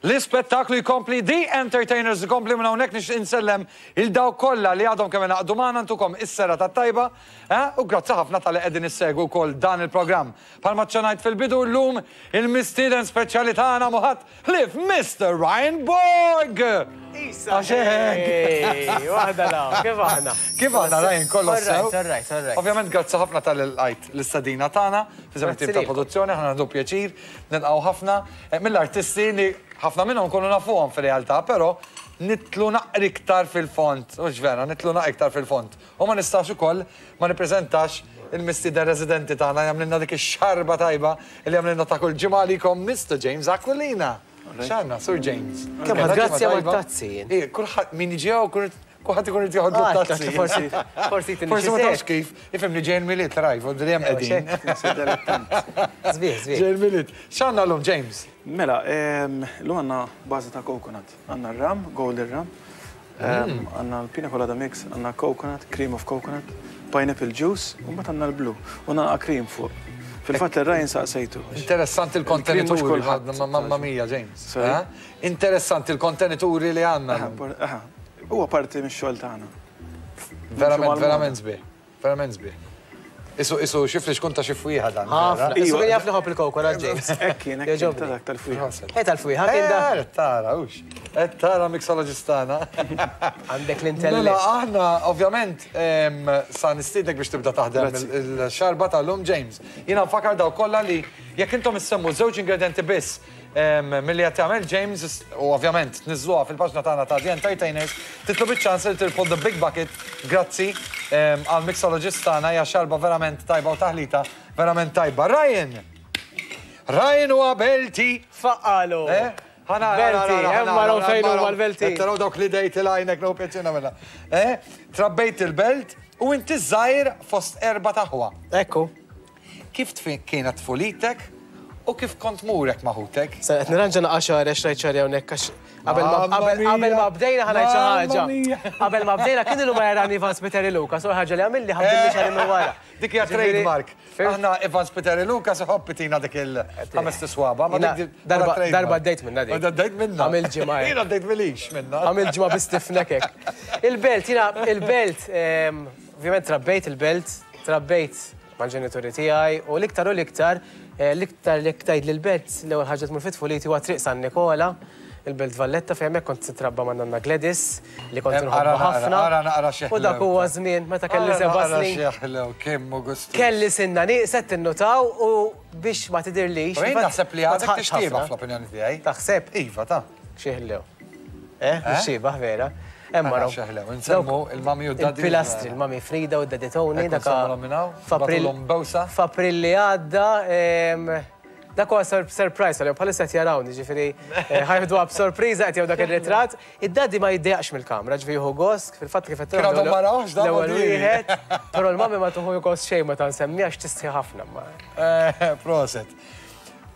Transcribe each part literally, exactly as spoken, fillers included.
L-ispettaklu jkompli, The Entertainers jkompli. Minn hawnhekk nix insellem lil dawk kollha li għadhom kemm ingħaqdu magħna, ntukom is-serata tajba, eh, u grazzi ħafna talli qegħdin issegwu wkoll dan il-programm. Bħalma ċċenajt fil-bidu, llum il-mistieden speċjali tagħna mhu ħadd ħlief Mister Ryan Borg! Isa! Hey, waħda la, kif aħna? Kif aħna, Ryan, kollox sew? All right, all right. Ovvjament, grazzi ħafna talli lqajt l-istedina tagħna, f'isem tim ta' produzzjoni, aħna għandu pjaċir nilqgħu ħafna eh, mill-artisti li ħafna minnhom kunu nafuhom fil-realtà, però nidħlu naqra iktar fil-fond, u vera, nidħlu naqra iktar fil-fond. U ma nistax ukoll ma nippreżentax il-mistieden residenti tagħna, jagħmlilna dik ix-xarba tajba li jagħmlilna ta' kull ġimgħa għalikom, Mister James Aquilina. X'għandna, Sur James? Kemm ħadd grazzi għal tazzi jien. Eh, kulħadd min jiġi hawn, kulħadd ikun irid joħodlu Ah, tazzi. Forsi, forsi tini Forsi ma xi tafx kif, ifhimni, ġejn Milied, rajf, u hemm qegħdin. Sbieħ, sbieħ. Ġejn Milied. X'għandna llum, James? Mela, em, llum għandna bażi ta' coconut. Għandna rum, golden rum, em, għandna l-pina colada mix, għandna coconut, cream of coconut, pineapple juice, u mbagħad għandna l-blue. U naqra cream fuq. Fil-fatt ir-Ryan saqsejtu. Interessanti l-kontenituri, Il-cream mhux kulħadd. Mamma mia, James. Sorry? Eh? Interessanti l-kontenituri li għandna. Aha, por- aha, huwa parti mix-xogħol tagħna. Verament, mal-moda. verament sbieħ. Verament sbieħ. Isu, isu, xifli xkun ta' xi fwieħa dan. Ħafna. Vera? Isu kien jaf li ħobb il-coconut, James. Hekk kien, hekk kien Jogħġobni. ta' dak tal-fwieħa. Eh, tal-fwieħa kien da. Eh, tara, hux. Eh, tara mixologist tagħna. Għandek Mela, l-intellett. aħna, ovvjament, em, sa nistiednek biex tibda taħdem Grazzi. il-xarba tal-lum, James. Jiena nfakkar dawk kollha li jekk intom issemmu żewġ ingredienti biss em, milli qed jagħmel James u ovvjament tniżżluha fil-paġna tagħna ta' The Entertainers, titilgħu biċ-ċans li tirbħu The Big Bucket, grazzi em, għal mixologist tagħna. Hija xarba verament tajba u taħlita verament tajba. Ryan! Ryan huwa Belti. Faqqalu. Eh? Ħana, Belti, hemm maraw fejn huma l-Belti. Taraw dawk li dejt il-għajnek, no pjaċina mela. Eh? Trabbejt il-Belt u inti żgħir fost erba' t'aħwa. Ekku. Kif tfi- kienet tfulitek u kif kont murek ma' ħutek? Sa qed nirranġa naqa' xagħri għax rajt xagħri hawnhekk, għax qabel ma Mamma qabel qabel ma mia. bdejna ħa ngħid xi Mamma ħaġa. mia. Qabel ma bdejna kien ilu ma jarani Ivan Spiteri Luca, so ħaġa li għamilli ħabbilli xagħri minn wara. Dik hija Ġifieri, trademark. Fhimt? Aħna Ivan Spiteri Luca se ħobbitina dik il-ħames tiswaba. Ma Jiena dik darba- bħala trademark. Darba għaddejt minna dik. Ma għaddejt minna. Għamil ġimgħa, eh. Jiena għaddejt milix minna. Għamil ġimgħa bi stiff neck hekk. Il-Belt, jiena il-Belt, ehm, ovvjament trabbejt il-Belt, trabbejt mal-ġenituri tiegħi u l-iktar u l-iktar, eh, l-iktar li ktajd l-Belt, l-ewwel ħaġa tmur fit-tfuliti huwa Triq San Nikola, il-Belt Valletta, fejn hemmhekk kont titrabba ma' nanna Gladys li kont Em, nħobbha ara naqra, ħafna. Ara naqra xi U dak ħlew. huwa żmien meta kelli seba' snin. Xieħlew, kemm u gustu. Kelli sinna nieqset tinnutaw u biex ma tidirlix. U jien infatti, naħseb li ma għadek tħaqx tixtieba ħafna. fl-opinjoni tiegħi. Taħseb? Iva, ta' Xieħlew. Eh, mhux xiebaħ vera. Hemm Ara maraw. xeħlew, insemmu il-mami u d-daddy. Il-pilastri, il-mami Frida u d-daddy Tony. Ekku nsemmu minn hawn, F'April nagħtulhom bewsa. F'April li għadda, em, dak huwa sur- surprise, għalihom bħalissa qed jarawni, ġifieri eh, ħa jeħduha b'sorpriża qed jew dak ir-ritratt. Id-daddy ma jiddejjaqx mill-kamra, ġifieri jieħu gost, fil-fatt kif qed Kien għadhom ma rawx, dan l-ewwel ma diri. wieħed, però l-mami ma tuħu gost xejn meta nsemmi għax tistħi ħafna. ma- Eh, Proset.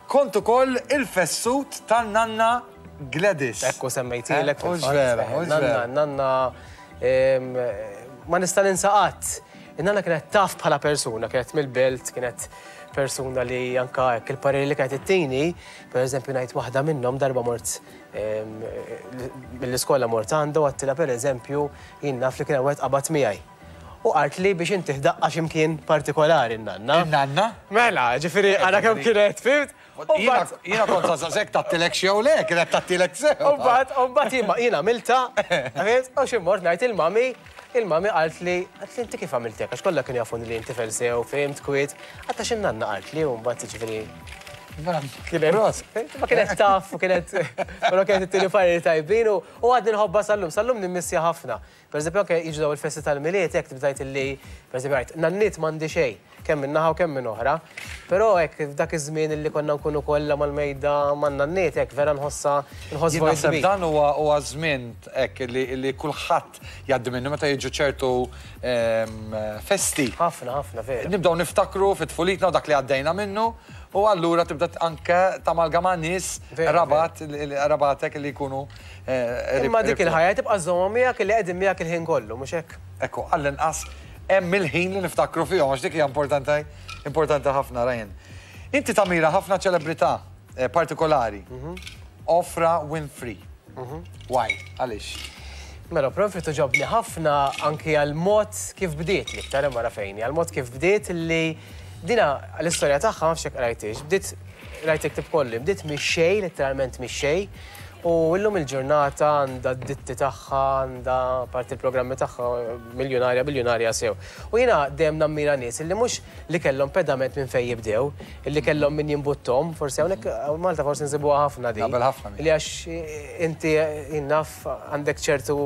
Kont ukoll il-fessut tan-nanna Gladys. Ekku semmejtilek. Eh, hux Fil-fatt. vera, Eh, hux Nanna, vera. nanna, em, ma nista' ninsa qatt. In-nanna kienet taf bħala persuna, kienet mill-Belt, kienet persuna li anka hekk il-pareri li kienet ittini, per eżempju ngħid waħda minnhom, darba mort em, mill-iskola, mort għandha u għedtilha, per eżempju, jien naf li kien hemm wieħed qabad miegħi. U qalt li biex inti ħdaqqa x'imkien partikolari n-nanna. In-nanna? Mela, ġifieri għara kemm kienet, fhimt? U Jiena mbagħad- jiena kont saqsek tattilek xew le, kienet tattilek sew. U mbagħad, u mbagħad jien jien għamilta, għamilt, u xi mort ngħid il-mami, il-mami qalt li, qalt li inti kif għamiltek, għax kollha kienu jafuni li inti sew, fhimt, kwiet, għatta xi nanna qalt li, u mbagħad ġifieri Kienet. Ma kienet taf, u kienet, però kienet it-tieni pareri tajbin u u għadni nħobba sal-lum, sal-lum nimmissja ħafna. Per eżempju, anke jiġu daw il-festi tal-Milied, jekk tibdajt illi, per eżempju, għajt, nanniet m'għandi xejn, kemm minn naħa u kemm minn oħra. Però hekk f'dak iż-żmien illi konna nkunu kollha mal-mejda man-nanniet, hekk vera nħossa nħoss Jien vojt naħseb kbir. dan huwa huwa żmien hekk li li kulħadd jgħaddi minnu meta jiġu ċertu em, festi. Ħafna, ħafna, vera. Nibdew niftakru fit-tfulitna u dak li għaddejna minnu u allura tibda anke tamalgama nies Vera, rabat rabatek li jkunu eh, Imma rib- dik il-ħajja tibqa' żomma miegħek li qegħdin miegħek il-ħin kollu, mhux hekk? Ekku, għall-inqas hemm il-ħin li niftakru fihom, għax dik hija importanti importanti ħafna, Ryan. Inti tamira ħafna ċelebrità eh, partikolari. Oprah Winfrey. Why? Għaliex? Mela, Oprah Winfrey togħġobni ħafna anki għal-mod kif bdiet li iktar wara fejni, għal-mod kif bdiet li dina l-istorja tagħha ma nafx jekk rajtix, bdiet rajt ktieb kollu, bdiet mix-xejn, letteralment mix-xejn, u illum il-ġurnata għandha d-ditti tagħha, għandha parti il-programmi tagħha miljonarja, biljonarja sew. U jiena dejjem nammira nies illi mhux li kellhom pedament minn fejn jibdew, illi kellhom min jimbuttom, forsi hawnhekk Malta forsi nsibuha ħafna di. Naqbel ħafna Li għax inti innaf għandek ċertu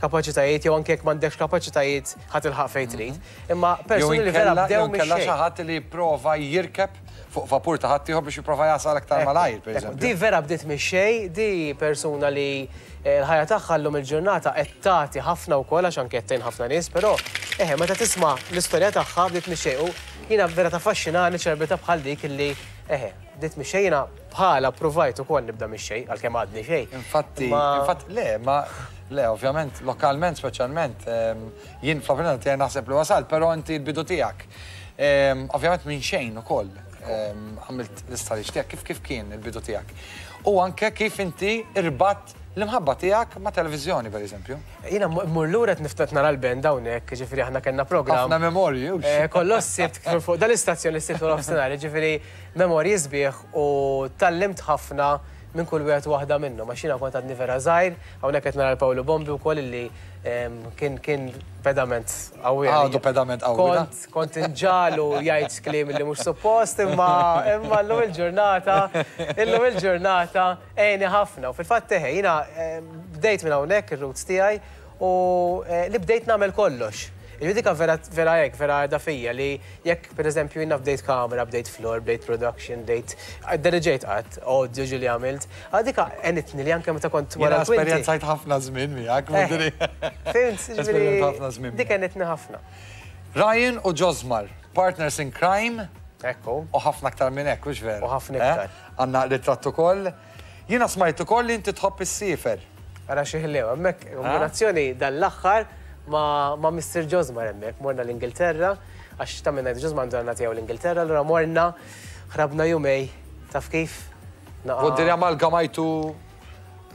kapaċitajiet jew anke jekk m'għandekx kapaċitajiet ħa tilħaq fejn trid. Imma persuni li vera bdew Jew inkella mix-xejn. xi ħadd li jipprova jirkeb fuq vapur ta' ħadd ieħor biex jipprova jasal aktar malajr, per Ekku, eżempju. Di vera bdiet mix-xejn, di persuna li eh, l-ħajja tagħha llum il-ġurnata qed tagħti ħafna wkoll għax anke qed tgħin ħafna nies, però eħe meta tisma' l-istorja tagħha bdiet mix-xejn u jiena vera taffaxxinani ċelebrita bħal dik illi eħe bdiet mix-xejn jiena bħala provajt ukoll nibda mix-xejn għalkemm għadni xejn. Infatti, Ma- infatti, le, ma, le, ovvjament, lokalment speċjalment, ehm, jien fl-opinjoni tiegħi naħseb li wasal, però inti l-bidu tiegħek. Ehm, Ovvjament minn xejn ukoll ehm, għamilt l-istħarriġ tiegħek, kif kif kien il-bidu tiegħek. U anke kif inti irbatt l-imħabba tiegħek ma' televiżjoni, per eżempju. Jiena mmur lura qed niftat nara l-band hawnhekk, ġifieri aħna kellna programm. Ħafna memorji, hux? Eh, Kollox sibt fuq dal-istazzjon li sibt nofsinhar, ġifieri memorji sbieħ u tgħallimt ħafna minn kull wieħed waħda minnhom. Għax jiena kont għadni vera żgħir, hawnhekk qed nara l-Pawlu Bombi wkoll illi em, kien kien pedament qawwi. Għadu pedament qawwi, da? Kont kont inġagħlu jgħid kliem li mhux suppost, imma imma llum il-ġurnata, illum il-ġurnata għeni ħafna. U fil-fatt eħe, jiena em, bdejt minn hawnhekk ir-roots tiegħi u eh, li bdejt nagħmel kollox. Il-dik vera vera hekk, vera għadha fija li jekk per eżempju jiena bdejt kamera, bdejt floor, bdejt production, bdejt diriġejt qatt, audio ġieli għamilt. Għadika għenitni li anke meta kont Jiena wara l-kwinti. esperjenzajt ħafna żmien miegħek, Eh, mudiri. Fhimt, ġifieri, Esperjenzajt ħafna żmien. dik għenitni ħafna. Ryan u Josmar, partners in crime, Ekku. u ħafna aktar minn hekk, hux vera? U ħafna iktar. Eh? Għandna ritratt ukoll. Jiena smajt ukoll li inti tħobb issiefer. Ara xi ħlew, hemmhekk kombinazzjoni dal-aħħar ma, ma Mister Josmar hemmhekk, morna l-Ingilterra, għax ta' minna Josmar għandu għandna tiegħu l-Ingilterra, allura morna ħrabna jumejn, taf kif? Naqa- Vuol dire amalgamajtu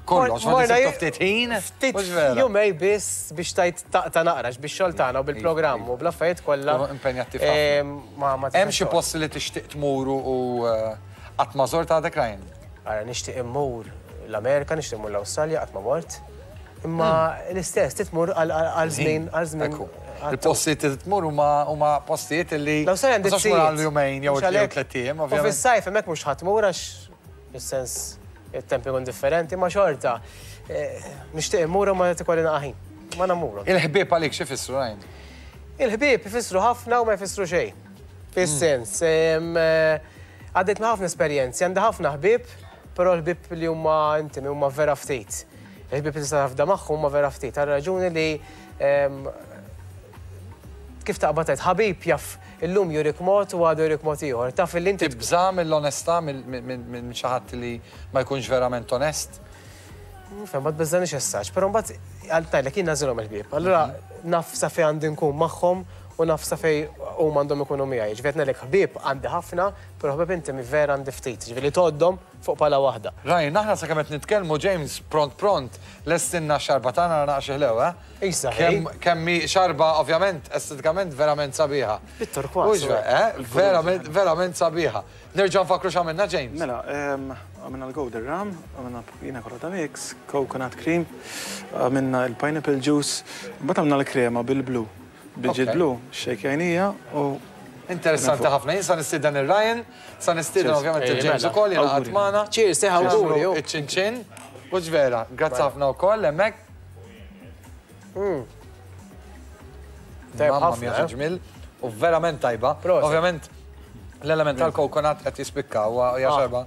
kollox, ma Morna nisibtu ftit ħin, Ftit mhux vera? jumejn biss biex tajt taqta naqrax biex xogħol tagħna u bil-programm u bl-affarijiet kollha. Kunu impenjattiv ħafna. Em, Ma ma Hemm xi tistax posti li tixtieq tmuru u eh, qatt ma żort għadek Ryan? Ara nixtieq immur l-Amerika, nixtieq immur l-Awstralja, qatt ma mort. Imma l-istess titmur għal għal żmien għal żmien. Ekku. Il-postijiet li tmur huma huma postijiet li L-Awstralja għandi ma tistax tmur għal jumejn jew jew tliet ijiem, U ovvjament. fis-sajf hemmhekk mhux ħa tmur għax fis-sens it-temp ikun differenti, ma xorta. eh, Nixtieq immur u ma tikolli naqaħin. Ma namuru. Il-ħbieb għalik xi jfissru Ryan? Il-ħbieb ifissru ħafna u ma jfissru xejn. Fis-sens, em, eh, għaddejt ma' ħafna esperjenzi, għandi ħafna ħbieb, però l-ħbieb li huma intimi huma vera ftit. Il-ħbieb li tista' tafda magħhom huma vera ftit. Għal raġuni li em, kif taqbad tgħid ħabib jaf illum jurik mod u għadu jurik mod ieħor. Taf illi inti Tibża mill-onestà minn xi ħadd li ma jkunx verament onest? Fem, ma tbeżżanix essaċ, però mbagħad għal tajlek jien nażilhom il-ħbieb. Allura naf sa fejn għandi nkun magħhom u naf sa fejn huma għandhom ikunu miegħi. Ġifieri ngħidlek ħbieb għandi ħafna, però ħbieb intimi vera għandi ftit. Ġifieri tgħoddhom fuq pala waħda. Ryan, aħna sa kemm qed nitkellmu James pront pront lestinna xarba tagħna naqra ħlew, eh? Isa, Kemm kemm hi xarba ovvjament estetikament verament sabiħa. Bit-turkważ, Hux vera, eh? Verament verament sabiħa. Nerġa' nfakru x'għamilna James. Mela, em, għamilna l-golden rum, għamilna pina colada mix, coconut cream, għamilna il-pineapple juice, mbagħad għamilna l-krema bil-blu. Bil-ġid Ok. blu, xejkjajnija u Interessanti ħafna. Jien sa nistieden ir-Ryan, sa nistieden Cheers. ovvjament Ej, il-James mela. ukoll jingħaqad Awguri. magħna. Cheers, seħ awguri, ju. Iċ-ċinċin. Mhux vera, grazzi ħafna wkoll hemmhekk. Tajb Mamma ħafna, mia eh? ġmil. U verament tajba. Proset. Ovvjament l-element tal-coconut qed jispikka huwa hija Ah. xarba.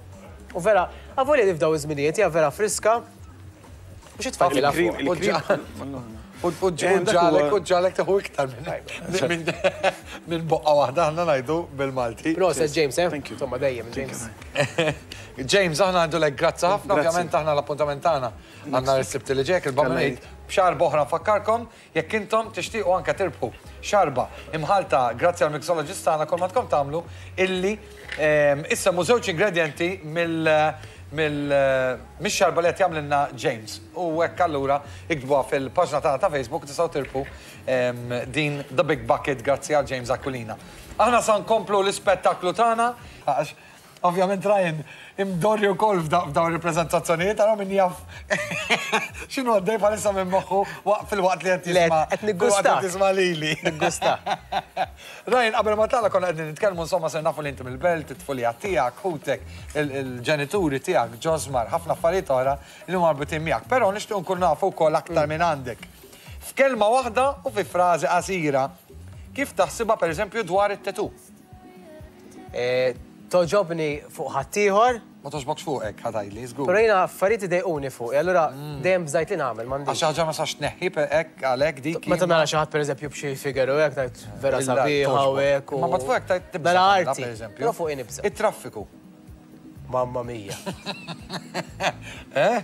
U vera, avolja li f'daw iż-żminijiet hija vera friska. Mhux itfajt il-cream, fuq. il-cream. U u Eh, dak ġalek, huwa- u ġalek teħu iktar minn minn minn boqqa waħda aħna ngħidu bil-Malti. Proset James, eh? Thank you. Insomma dejjem Thank you, James. James, aħna għandu lek grazzi ħafna, Grazzi. ovvjament aħna l-appuntament tagħna għandna l-sibt li ġej, il-Bambinate, b'xarba oħra nfakkarkom, jekk intom tixtiequ anke tirbħu xarba imħalta grazzi għal mixologist tagħna kol ma tkom tagħmlu illi ehm, issemmu żewġ ingredienti mill Mix-xarba li qed jagħmlilna James. U hekk allura iktbuha fil-paġna tagħna ta' Facebook, tistgħu tirbħu din The Big Bucket grazzi għal James Aquilina. Aħna sa nkomplu l-ispettaklu tagħna għax ovvjament Ryan imdorri wkoll f'dawn ir-rappreżentazzjonijiet, ara min jaf x'inhu għaddej bħalissa minn moħħu fil-waqt li qed jisma' qed niggusta. Jisma' lili. Niggusta. Ryan, qabel ma tala konna qegħdin nitkellmu, insomma, se nafu li inti mill-belt, it-tfulija tiegħek, ħutek, il-ġenituri tiegħek, Josmar, ħafna affarijiet oħra li huma marbutin miegħek. Però nixtieq nkun nafu wkoll aktar minn għandek. F'kelma waħda u fi frażi qasira, kif taħsibha, pereżempju, dwar it-tattoo? Togħġobni fuq ħaddieħor. Ma togħġbokx fuqek, ħa tgħidli, żgur. Però jiena affarijiet idejquni fuq, allura dejjem bżajt li nagħmel m'għandix. Għax ħaġa ma sax tneħħi hekk għalhekk dik. Meta nara xi ħadd, pereżempju, b'xi figure u hekk, ngħid vera sabiħa u hekk. Ma bad fuqek tajt tibża'. Nara arti, però fuq nibża'. It-traffiku. Mamma mia.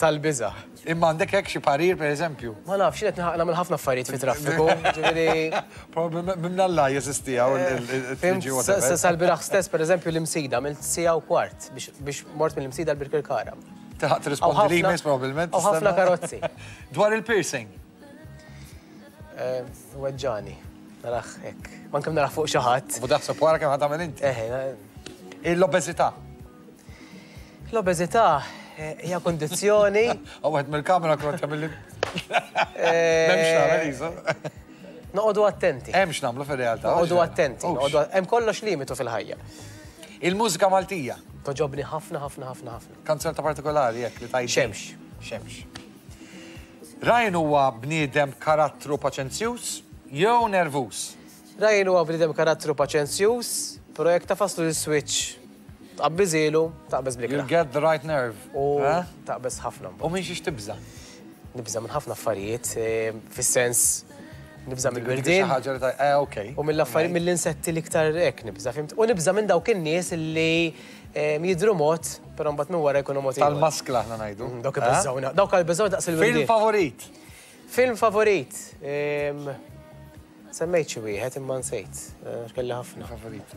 Tal-biża'. Imma għandek hekk xi parir, pereżempju? Ma nafx, qed nagħmel ħafna affarijiet fi traffiku, ġifieri. Probabilment minn Alla jeżisti hawn il-triġi. Sal-bieraħ stess, pereżempju, l-Imsida għamilt siegħa u kwart biex mort mill-Imsida l-Birkirkara. Tilħaq tirrispondi l-emails probabbilment. U ħafna karozzi. Dwar il-piercing. Weġġani. Naraħ hekk. Ma kemm naraħ fuq xi ħadd. U daħseb wara kemm ħa tagħmel inti. Eħe. L-obeżità. L-obeżità hija kondizzjoni. U għed mill-kamera kont jagħmel li. M'hemmx nagħmel isu. Noqogħdu attenti. Hemmx nagħmlu fir-realtà. Noqogħdu attenti. Hemm kollox limitu fil-ħajja. Il-mużika Maltija. Togħġobni ħafna, ħafna, ħafna, ħafna. Kanzunetta partikolari jekk li tajt. Xemx. Xemx. Ryan huwa bniedem karattru paċenzjuż jew nervuż? Ryan huwa bniedem karattru paċenzjuż, però jekk tafaslu l-switch tqabbiżilu, taqbeż bl-ikrah. You get the right nerve. U taqbeż ħafna. U minn xiex tibża'? Nibża' minn ħafna affarijiet, fis-sens nibża' mill-wirdien. Xi ħaġa li taj, eh, okej. U mill-affarijiet, mill-insetti l-iktar hekk nibża', fimt? U nibża' minn dawk in-nies li jidhru mod, però mbagħad minn wara jkunu mod ieħor. Tal-maskla aħna ngħidu. Dawk ibeżżgħuna. Dawk għal-beżgħu daqs il-wirdien. Film favorit? Film favorit? Semmejt xi wieħed imma nsejt, kelli ħafna. Favorit.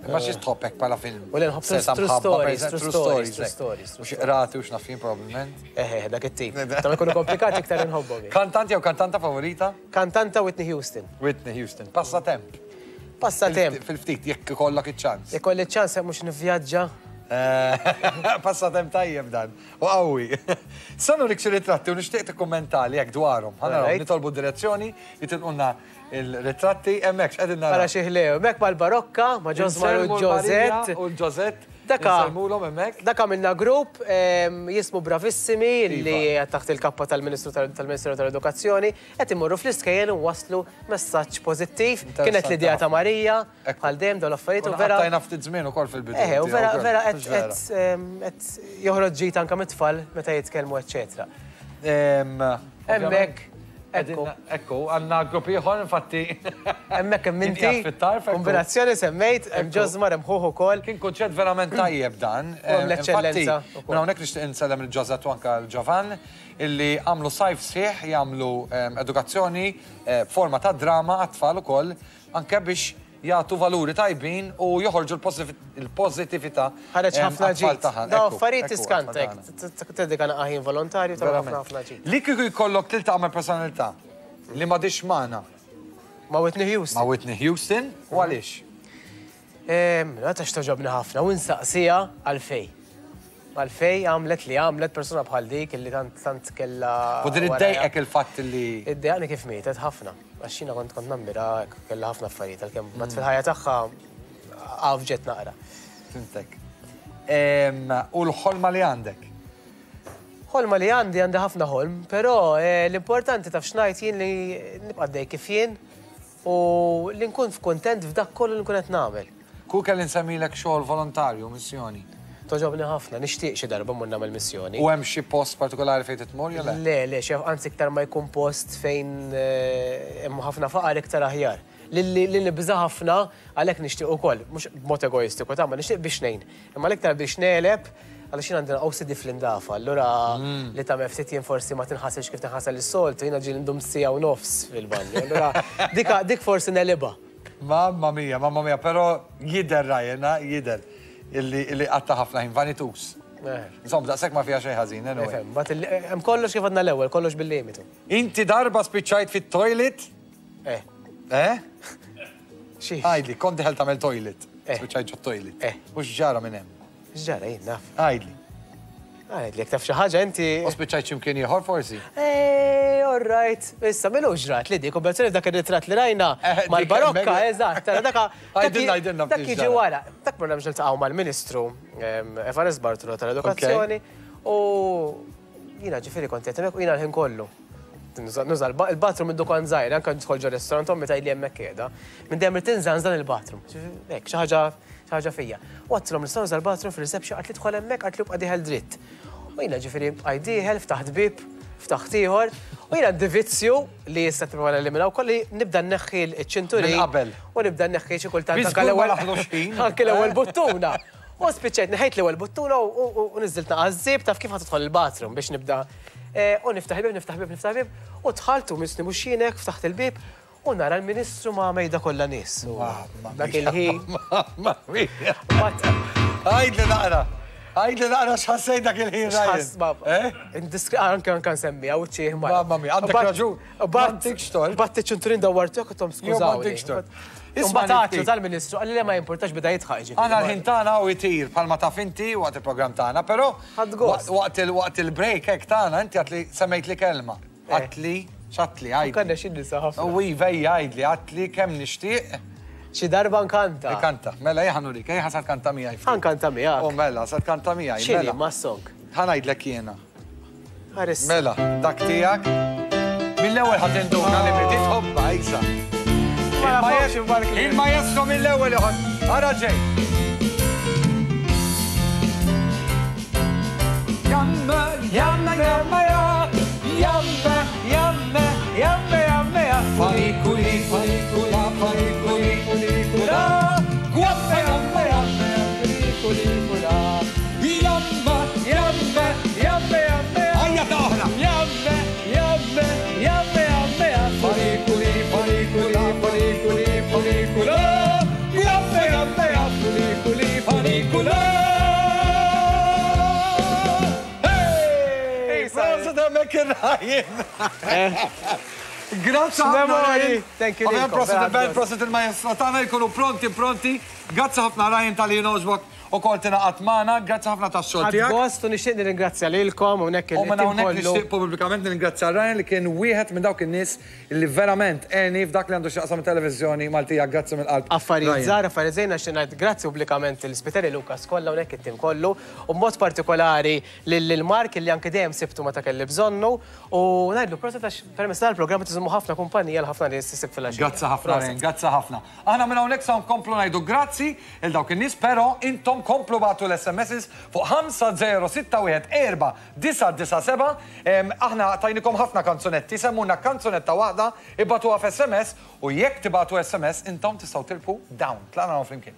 Imma xi tħobb hekk bħala film? U le nħobb true stories, true stories, true stories. U xi qrati u x'naf jien probabbilment. Eħe, dak it-tip. Ta' ma jkunu komplikati iktar inħobbhom. Kantant jew kantanta favorita? Kantanta Whitney Houston. Whitney Houston. Passatemp. Passatemp. Fil-ftit, jekk ikollok iċ-ċans. Jekk ikolli ċ-ċans mhux nivvjaġġa. Passatemp tajjeb dan. U qawwi. Sa nurik xi ritratti u nixtieq tikkummentali jekk dwarhom. Ħa naraw, nitolbu direzzjoni, jitilqulna il-ritratti hemmhekk x'qegħdin naraw. Ara xi ħlew, hemmhekk mal-Barokka, ma' Josmar u Josette. U l-Josette. Daka. Insellmulhom hemmhekk. Dak għamilna grupp jismu Bravissimi li taħt il-kappa tal-Ministru tal-Ministeru tal-Edukazzjoni qed imorru fl-iskejjel u waslu messaġġ pożittiv. Kienet l-idea ta' Marija, bħal dejjem dawn l-affarijiet u vera. Tajna ftit żmien ukoll fil-bidu. Eħe, u vera vera qed joħroġ ġid anke mit-tfal meta jitkellmu, eċċetera. Hemmhekk. Ekku. Ekku, għandna grupp ieħor infatti. Hemmhekk hemm inti. Kombinazzjoni semmejt, hemm Josmar, hemm ħuh ukoll. Kien kunċett verament tajjeb dan. L-eċċellenza. Minn hawnhekk nixtieq insellem il-Josette u anke l-Ġovan illi għamlu sajf sħiħ jagħmlu edukazzjoni b'forma ta' drama għat-tfal ukoll anke biex jagħtu valuri tajbin u joħorġu l-pożittività. Ħareġ ħafna ġid. Daw affarijiet tiskantek, tedika naqaħin volontarju ta' ħafna ħafna ġid. Li kieku jkollok tiltaqa' ma' personalità li m'għadix magħna. Ma' Whitney Houston. Ma' Whitney Houston, u għaliex? La tax toġobni ħafna u nsaqsija għalfej. Għalfej għamlet li għamlet persuna bħal dik illi tant tant kellha. U din iddejqek il-fatt li. Iddejqni kif mietet ħafna. Għax jiena kont kont nammira kellha ħafna affarijiet għalkemm mat fil-ħajja tagħha għafġet naqra. Fimtek. U l-ħolma li għandek? Ħolma li għandi, għandi ħafna ħolm, però l-importanti taf x'ngħid jien li nibqa' dej kif jien u li nkun f'kuntent f'dak kollu li nkun qed nagħmel. Ku kelli nsemmilek xogħol volontarju, missjoni? Toġobni ħafna, nixtieq xi darba mmur nagħmel missjoni. U hemm xi post partikolari fejn titmur jew le? Le, le, xi anzi iktar ma jkun post fejn hemm ħafna faqar iktar aħjar. Li nibża' ħafna għalhekk nixtieq ukoll, mhux b'mod egoistiku ta' ma nixtieq biex ngħin. Imma l-iktar biex negħleb għaliex jien għandina O C D fl-indafa, allura li tagħmel ftit jien forsi ma tinħasilx kif tinħasel is-soltu, jiena ġieli ndum siegħa u nofs fil-banju. Allura dik forsi negħlibha. Mamma mia, mamma mia, però jidher Ryan, jidher illi qatta ħafna ħin vanitus. Insomma, daqshekk ma fiha xejn ħażin, anyway. Hemm kollox kif għadna l-ewwel, kollox bil-limitu. Inti darba spiċċajt fit-toilet? Eh. Eh? Xiex? Għidli, kont dieħel tagħmel toilet. Eh. Spiċċajt ġo toilet. Eh. U x'ġara minn hemm? X'ġara jien naf. Għidli. Għidli, jekk taf xi ħaġa inti. U spiċċajt x'imkien ieħor forsi? Ej, all right. Issa, milu ġrat li dik, u bezzoni dak ir-ritratt li rajna Eh, dik mal-barokka, hemmhekk. eżatt, tara daka. Għidilna, għidilna Dak ftit jiġi ġara. wara. Dak morna biex niltaqgħu mal-Ministru em, Evarist Bartolo tal-Edukazzjoni u jiena ġifieri kont qed hemmhekk u jiena l-ħin kollu. Nuża nuża l- il-bathroom minn dukan żgħir, anke nidħol ġo restaurant ommi tgħidli hemmhekk qiegħda. Minn dejjem irid tinża dan il-bathroom. Ġifieri, hekk, xi ħaġa xi ħaġa fija. U għedtilhom nistgħu nuża l-bathroom fir-reception qaltli dħol hemmhekk qaltli ibqa' dieħel dritt. U jiena ġifieri bqajt dieħel, ftaħt bib, ftaħt ieħor, u jiena għandi vizzju li issa tipprova neliminaw kolli nibda nneħħi l-ċinturin. Minn qabel. U nibda nneħħi xi kultant Biss anke kull ma l-ewwel naħlux ħin. anke l-ewwel buttuna. U spiċċajt neħejt l-ewwel buttuna u- u u niżilt naqaż taf kif ħa tidħol il-bathroom biex nibda. Eh, U niftaħ il-bib, niftaħ il-bib, niftaħ il-bib, u dħaltu misni mhux jienek, ftaħt il-bib, u nara l-Ministru ma' mejda kollha nies. U Mamma Dak mia, il-ħin. Mamma mia. Bat- Għidli naqra. Għidli naqra x'ħassejt dak il-ħin Ryan. Xħas, baba. Eh? Indiskri, anke anke nsemmi, għaw ċieħ ma. Mamma mia, għandek raġun. M'għandekx tort. Bat iċ-ċinturin dawwartu jekk tom Jo, skużawni. m'għandekx tort. Isma' Isma' ftit. tal-Ministru, qalli li ma jimportax beda jidħaq ġifieri. Għana l-ħin tagħna u jtir bħalma taf inti waqt il-programm tagħna, però Ħadd gost. waqt il- waqt il-break hekk tagħna inti għatli semmejt li kelma. Eh. Għatli, x'għatli għidli. Kanna xi nisa ħafna. U vejja għidli, għatli kemm nixtieq Xi darba nkanta. Kanta, mela jien ħa nurik, ejja sa tkanta miegħi. ftit. Ħankanta miegħek. U mela, sa tkanta miegħi. X'inhi Mela. ma' song? Ħa ngħidlek jiena. Ħares. Mela, dak tiegħek. Mill-ewwel ħa tinduna li bdiet tħobbha isa. Ma nafx imbark li- Il-maestro mill-ewwel iħodd. Ara ġej. Jamme, jamme, jamme, ja. Jamme, jamme, jamme, jamme, ja. Farikuli, farikula, farikuli, kulikula. Guamme, jamme, jamme, kulikula. Jamme, jamme, jamme, jamme, ja. Ejja ta' oħra. Jamme, jamme, jamme, jamme, ja. Farikuli, farikula, farikuli, farikula. Jamme, jamme, jamme, kuli, farikula. Hey! Prosit hemmhekk ir-Ryan. Grazzi ħafna. Memori. Ryan. Thank you Ovvjament lilkom, prosit vera il-band, gost. prosit il-maestro tagħna jkunu pronti, pronti. Grazzi ħafna Ryan talli jogħġbok ukoll tingħaqad magħna. Grazzi ħafna tax-xogħol Ħadd tiegħek. gost u nixtieq nirringrazzja lilkom hawnhekk U minn il-tim hawnhekk kollu. nixtieq pubblikament nirringrazzja Ryan li kien wieħed minn dawk in-nies li verament għeni f'dak li għandu x'jaqsam televiżjoni Maltija. Grazzi mill-qalb. Affarijiet Ryan. żgħar, affarijiet żejna xi ngħid grazzi pubblikament l-Spiteri Lukas kollha hawnhekk it-tim kollu u b'mod partikolari lil Mark li anke dejjem sibtu meta kelli bżonnu u ngħidlu prosit għax permezz tal-programm tiżommu ħafna kumpanija l ħafna nies isib fil-għaxija. Grazzi ħafna Ryan, grazzi ħafna. Aħna minn hawnhekk sa nkomplu ngħidu grazzi il dawk in-nies, però intom komplu bagħtu l-S M Ss fuq ħamsa żero sitta wieħed erba' disgħa disgħa seba'. Em, Aħna tajnikom ħafna kanzunetti, semmuna kanzunetta waħda, ibagħtuha f'S M S u jekk tibagħtu S M S intom tistgħu tirbħu dawn. Tlaqna flimkien.